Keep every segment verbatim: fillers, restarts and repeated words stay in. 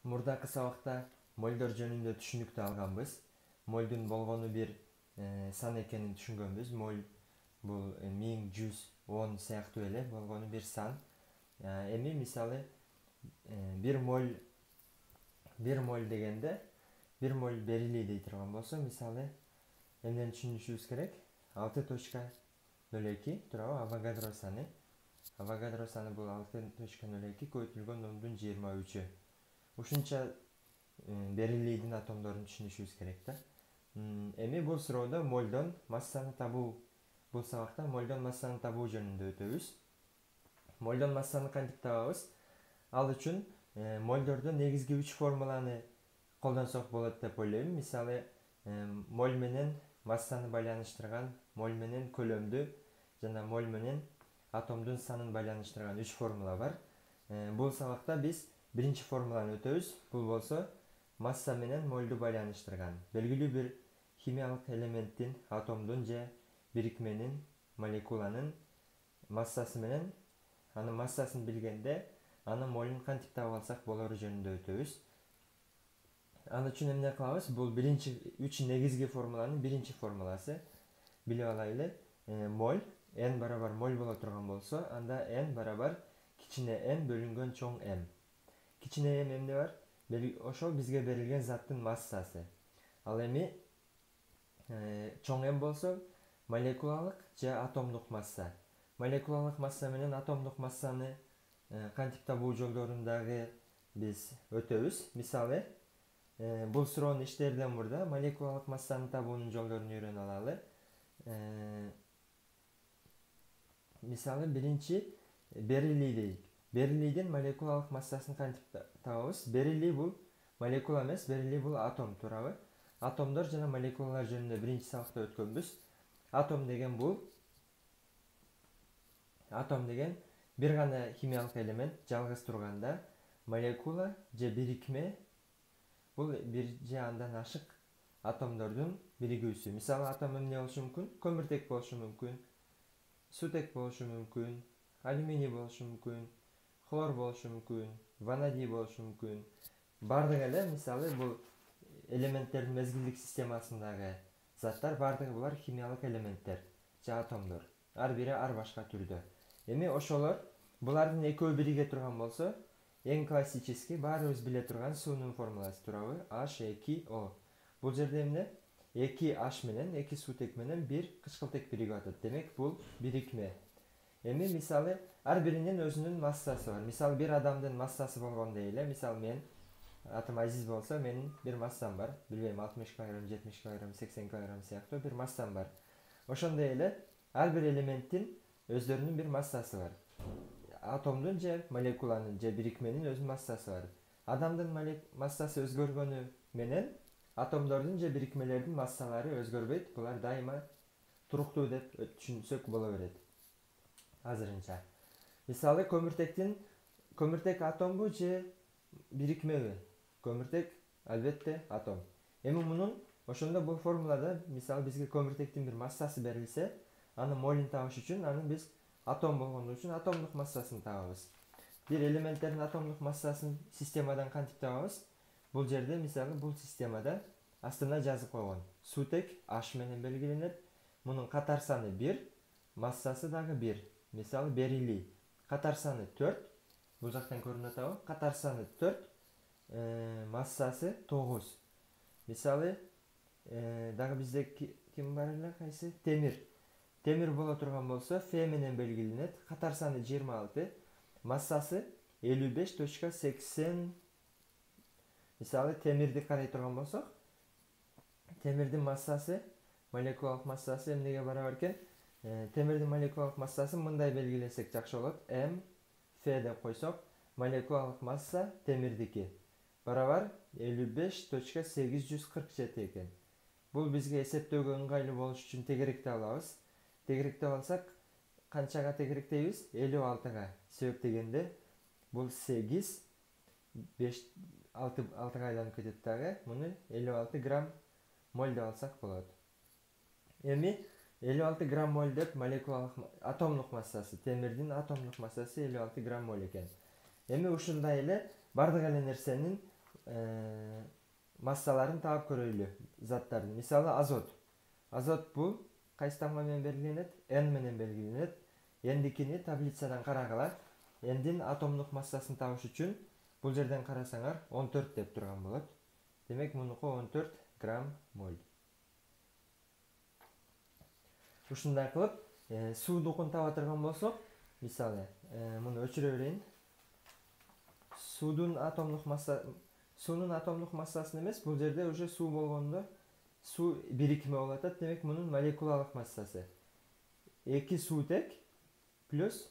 Мурдакы сабакта молдор жөнүндө түшүнүктүү алганбыз. Молдун болгону бир сан экенин түшүнгөнбүз. Моль бул миң жүз он сыяктуу эле болгону бир сан. Эми мисалы бир моль бир моль дегенде бир моль берилий дей турган болсо, мисалы эмнени түшүнүшүбүз керек? алты точка ноль эки туурабы? Авогадро саны. Авогадро саны бул алты точка ноль эки көбөйтүлгөн ондун жыйырма үчү. Ушунча берилийдин атомдорун түшүнүшүбүз керек да. Эми бул суроодо мольдон массаны табуу, бул сабакта мольдон массаны табуу жөнүндө өтөбүз. Мольдон массаны кантип табабыз? Ал үчүн мольдордо негизги үч формуланы колдонсок болот деп ойлойм. Мисалы, моль менен массаны байланыштырган, моль менен көлөмдү жана моль менен атомдун санын байланыштырган үч формула бар. Бул сабакта биз биринчи формуланы өтөбүз. Бул болсо масса менен мольду байланыштырган. Белгилүү бир химиялык элементтин, атомдун же бирикменин, молекуланын массасы менен анын массасын билгенде, анын молун кантип таап алсак болору жөнүндө өтөбүз. Ал үчүн эмне кылабыз? Бул биринчи үч негизги формуланын биринчи формуласы. Билип алайлы. Моль n барабар моль боло турган болсо, анда n барабар кичине m бөлүнгөн чоң m. Кичине m эмне бар? Ошол бизге берилген заттын массасы. Ал эми чоң m болсо молекулалык же атомдук масса. Молекулалык масса менен атомдук массаны кантип табуу жолдорун дагы биз өтөбүз. Мисалы, бул суроону иштерден мурда молекулалык массаны табуунун жолдорун үйрөнүп алалы. Мисалы, биринчи берилий дейик. Берилийдин молекулалык массасын кантип табабыз? Берилий бул молекула эмес, берилий бул атом, туурабы? Атомдор жана молекулалар жөнүндө биринчи сабакта өткөнбүз. Атом деген бул Атом деген бир гана химиялык элемент жалгыз турганда, молекула же бирикме бул бир же андан ашык атомдордун биригүүсү. Мисалы, атом эмне болушу мүмкүн? Көмүртек болушу мүмкүн, сутек болушу мүмкүн, алюминий болушу мүмкүн, хлор болушу мүмкүн, ванадий болушу мүмкүн. Бардыгы эле, мисалы, бул элементтердин мезгилдик системасындагы заттар, бардыгы булар химиялык элементтер же атомдор. Ар бири ар башка түрдө. Эми ошолор, булардын экөө бириге турган болсо, эң классический, баарыбыз биле турган суунун формуласы, туурабы? эйч эки о. Бул жерде эмне? эки эйч менен, эки сутек менен бир кычкылтек бириги атат. Демек, бул бирикме. Эми мисалы, ар биринин өзүнүн массасы бар. Мисалы, бир адамдын массасы болгон дейли. Мисалы, мен атым Азиз болсо, менин бир массам бар. Билбейм, алтымыш килограмм, жетимиш килограмм, сексен килограмм сыяктуу бир массам бар. Ошондой эле ар бир элементтин өздөрүнүн бир массасы бар. Атомдун же молекуланын же бирикменин өзүнүн массасы бар. Адамдын массасы өзгөргөнү менен атомдордун же бирикмелердин массалары өзгөрбөйт. Булар дайыма туруктуу деп түшүнсөк боло берет азырынча. Мисалы, көмүртектин көмүртек атомбу же бирикмеби? Көмүртек албетте атом. Эми мунун ошондо бул формулада, мисалы, бизге көмүртектин бир массасы берилсе, анын молун табыш үчүн аны биз атом болгону үчүн атомдук массасын табабыз. Бир элементтердин атомдук массасын системадан кантип табабыз? Бул жерде, мисалы, бул системада астына жазып койгон. Сутек H менен белгиленет. Мунун катар саны бир, массасы дагы бир. Мисалы, берилий. Катар саны төрт. Бул жактан көрүнүп атабы? Катар саны төрт, массасы тогуз. Мисалы, дагы бизде ким бар эле, кайсы? Темир. Темир боло турган болсо, F менен белгиленет. Катар саны жыйырма алты, массасы элүү беш точка сексен. Мисалы, темирди карай турган болсок, темирдин массасы, молекулалык массасы эмнеге барабар экен? Темирдин молекулалык массасын мындай белгилесек жакшы болот. М F деп койсок, молекулалык масса темирдики барабар элүү беш точка сегиз жүз кырк жети экен. Бул бизге эсептөөгө ыңгайлуу болуш үчүн тегеректе алабыз. Тегеректеп алсак, канчага тегеректейбиз? элүү алтыга. Себеп дегенде, бул сегиз, беш, алтыга айланып кетет дагы. Муну элүү алты грамм моль деп алсак болот. Эми элүү алты грамм моль деп молекулалык атомдук массасы, темирдин атомдук массасы элүү алты грамм моль экен. Эми ушундай эле бардык эле нерсенин э, массаларын таап көрөйлү заттардын. Мисалы азот. Азот бул кайсы тамга менен белгиленет? N менен белгиленет. N'дикини таблицадан карагыла. N'дин атомдук массасын табыш үчүн бул жерден карасаңар он төрт деп турган болот. Демек мунуку он төрт грамм моль. Ушундай кылып э, суудукун таба турган болсок, мисалы, э, муну өчүрө берейин. Суудун атомдук масса суунун атомдук массасын эмес, бул жерде уже суу болгондо суу бирикме болуп атат. Демек мунун молекулалык массасы эки суутек плюс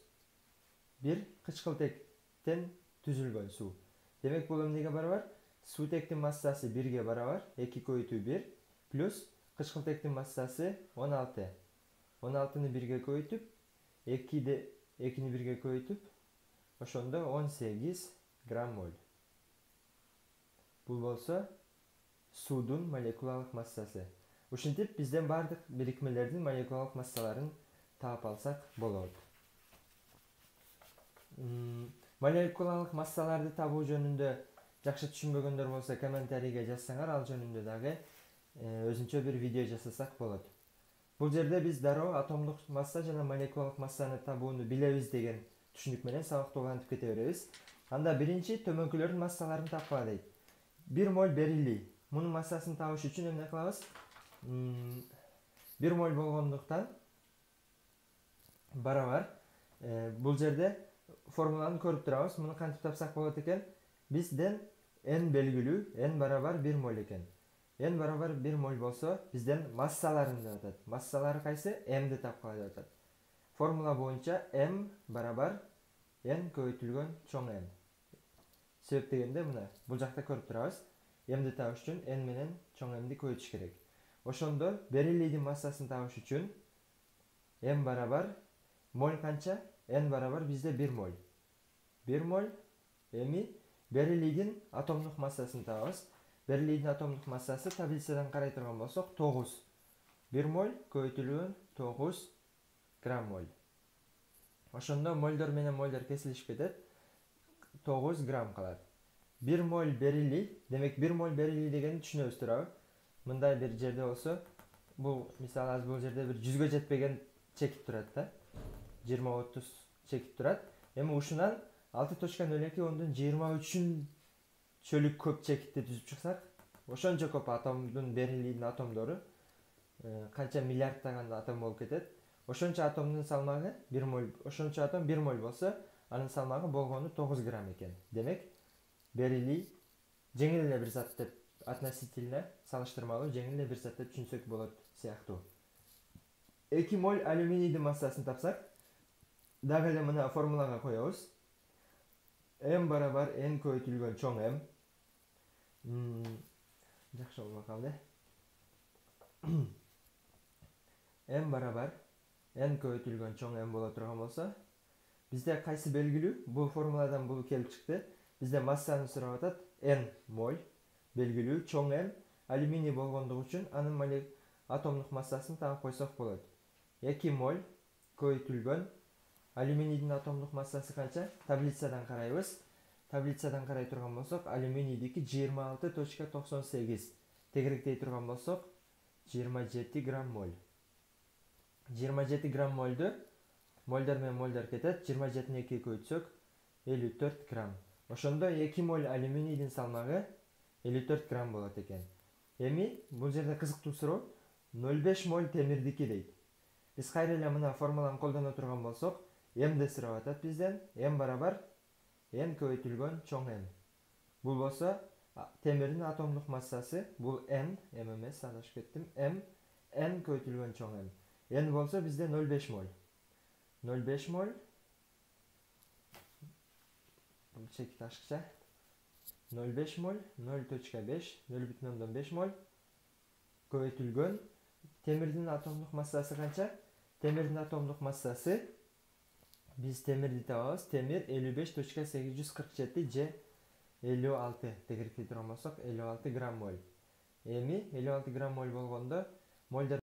бир кычкылтектен түзүлгөн суу. Демек бул эмнеге барабар? Суутектин массасы бирге барабар, эки көбөйтүү бир плюс кычкылтектин массасы он алты. он алтыны бирге көбөйтүп, экини бирге көбөйтүп, ошондо он сегиз грамм моль. Бул болсо суудун молекулалык массасы. Ушинтип бизден бардык бирикмелердин молекулалык массаларын таап алсак болот. Молекулалык массаларды табуу жөнүндө жакшы түшүнбөгөндөр болсо комментарийге жазсаңар, ал жөнүндө дагы өзүнчө бир видео жасасак болот. Бул жерде биз дароо атомдук масса жана молекулалык массаны табууну билебиз деген түшүнүк менен сабакты улантып кете беребиз. Анда биринчи төмөнкүлөрдүн массаларын тапкыла дейт. бир моль берилий. Мунун массасын табыш үчүн эмне кылабыз? бир моль болгондуктан барабар. Бул жерде формуланы көрүп турабыз. Муну кантип тапсак болот экен? Бизден N белгилүү, N барабар бир моль экен. N барабар бир моль болсо, бизден массаларын деп атат. Массалары кайсы? M'ди тапкыла деп атат. Формула боюнча M барабар N көбөйтүлгөн чоң M. Себеп дегенде мына бул жакта көрүп турабыз. M'ди табыш үчүн N менен чоң M'ди көбөйтүш керек. Ошондо берилийдин массасын табыш үчүн M барабар моль канча? N барабар бизде бир моль. бир моль эми берилийдин атомдук массасын табабыз. Берилийдин атомдук массасы таблицадан карай турган болсок тогуз. бир моль көбөйтүлгөн тогуз грамм моль. Ошондо мольдор менен мольдор кесилишип кетет. тогуз грамм калат. бир моль берилий, демек бир моль берилий дегенди түшүнөбүз туурабы? Мындай бир жерде болсо, бул мисалы азыр бул жерде бир жүзгө жетпеген чекип турат да. жыйырма отуз чекип турат. Эми ушунан алты точка ноль эки ондон жыйырма үчүн чөлүк көп чекитти түзүп чыксак, ошончо көп атомдун берилийдин атомдору канча миллиардтаган атом болуп кетет. Ошончо атомдун салмагы бир моль, ошончо атом бир моль болсо, анын салмагы болгону тогуз грамм экен. Демек, берилий жеңил эле бир зат деп относительно салыштырмалуу жеңил эле бир зат деп түшүнсөк болот сыяктуу. эки моль алюминийдин массасын тапсак, дагы эле мына формулага коебуз. M барабар N көбөйтүлгөн чоң M. Жакшы болбой калды. M барабар N көбөйтүлгөн чоң M боло турган болсо, бизде кайсы белгилүү? Бул формуладан бул келип чыкты. Бизде массаны сурап атат. N моль белгилүү чоң M алюминий болгондугу үчүн анын атомдук массасын таап койсок болот. эки моль көбөйтүлгөн алюминийдин атомдук массасы канча? Таблицадан карайбыз. Таблицадан карай турган болсок, алюминийдики жыйырма алты точка токсон сегиз. Тегеректей турган болсок, жыйырма жети грамм моль. жыйырма жети грамм мольду мольдор менен мольдор кетет. жыйырма жетини экиге көбөйтсөк, элүү төрт грамм. Ошондо эки моль алюминийдин салмагы элүү төрт грамм болот экен. Эми бул жерде кызыктуу суроо ноль беш моль темирдики дейт. Биз кайра эле мына формуланы колдоно турган болсок, M'ди сурап атат бизден. M барабар N көбөйтүлгөн чоң M. Бул болсо темирдин атомдук массасы, бул N, M эмес, адашып кеттим. M, N көбөйтүлгөн чоң M. N болсо бизде ноль беш моль. ноль беш моль. Бул чекит ашыкча. ноль беш моль, ноль точка беш, ноль бүтүн ондон беш моль көбөйтүлгөн темирдин атомдук массасы канча? Темирдин атомдук массасы биз темирди табабыз. Темир элүү беш точка сегиз жүз кырк жети же элүү алты тегеректей турган болсок, элүү алты грамм моль. Эми элүү алты грамм моль болгондо мольдор